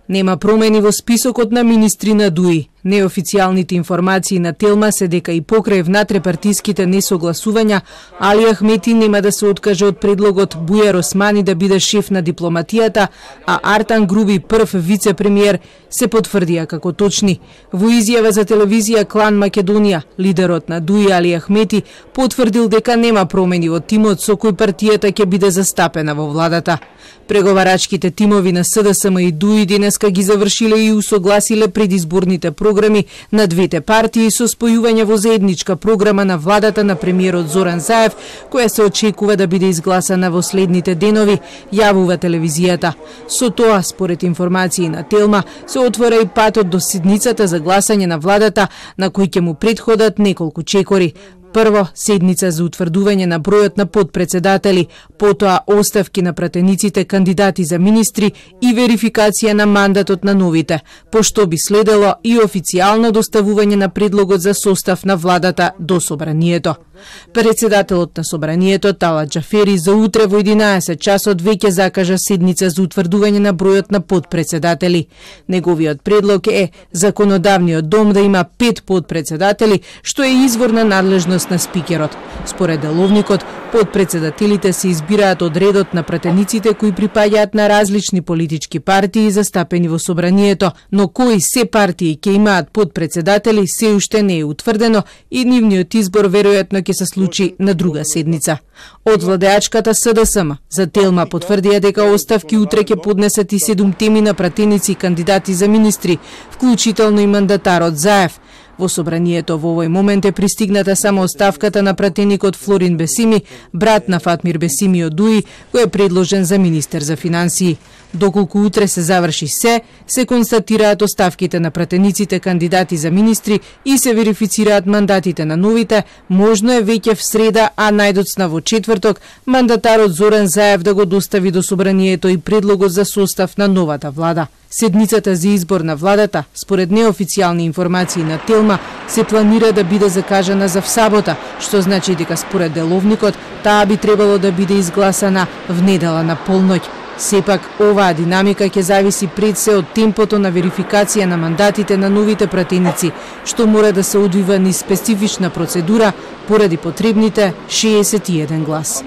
Нема промени во списокот на министри на ДУИ. Неофицијалните информации на Телма се дека и покрај внатрепартиските несогласувања, Али Ахмети нема да се откаже од предлогот Бујар Османи да биде шеф на дипломатијата, а Артан Груби, прв вице-премиер, се потврдија како точни. Во изјава за телевизија Клан Македонија, лидерот на ДУИ Али Ахмети потврдил дека нема промени во тимот со кој партијата ќе биде застапена во владата. Преговарачките тимови на СДСМ и ДУИ денеска ги завршиле и усогласиле предизборните програми на двете партии со спојување во заедничка програма на владата на премиерот Зоран Заев, која се очекува да биде изгласана во следните денови, јавува телевизијата. Со тоа, според информации на Телма, се отвора и патот до седницата за гласање на владата, на кој ќе му претходат неколку чекори. Прво, седница за утврдување на бројот на подпредседатели, потоа оставки на пратениците кандидати за министри и верификација на мандатот на новите, пошто би следело и официјално доставување на предлогот за состав на владата до собранието. Председателот на собранието Талат Џафери за утре во 11 часот веќе закажа седница за утврдување на бројот на подпредседатели. Неговиот предлог е законодавниот дом да има 5 подпредседатели, што е изворна надлежност на спикерот. Според деловникот, подпредседателите се избираат од редот на пратениците кои припаѓаат на различни политички партии застапени во собранието, но кои се партии ќе имаат подпредседатели се уште не е утврдено и нивниот избор веројатно ќе се случи на друга седница. Од владеачката СДСМ за Телма потврдија дека оставки утре ќе поднесат и 7 теми на пратеници и кандидати за министри, вклучително и мандатарот Заев. Во собранието во овој момент е пристигната само оставката на пратеникот Флорин Бесими, брат на Фатмир Бесими од ДУИ, кој е предложен за министер за финансии. Доколку утре се заврши се констатираат оставките на пратениците кандидати за министри и се верифицираат мандатите на новите, можно е веќе в среда, а најдоцна во четврток, мандатарот Зоран Заев да го достави до собранието и предлогот за состав на новата влада. Седницата за избор на владата, според неофицијални информации на Телма, се планира да биде закажана за сабота, што значи дека според деловникот таа би требало да биде изгласана в недела на полноќ. Сепак, оваа динамика ќе зависи пред се од темпото на верификација на мандатите на новите пратеници, што мора да се одвива низ специфична процедура поради потребните 61 глас.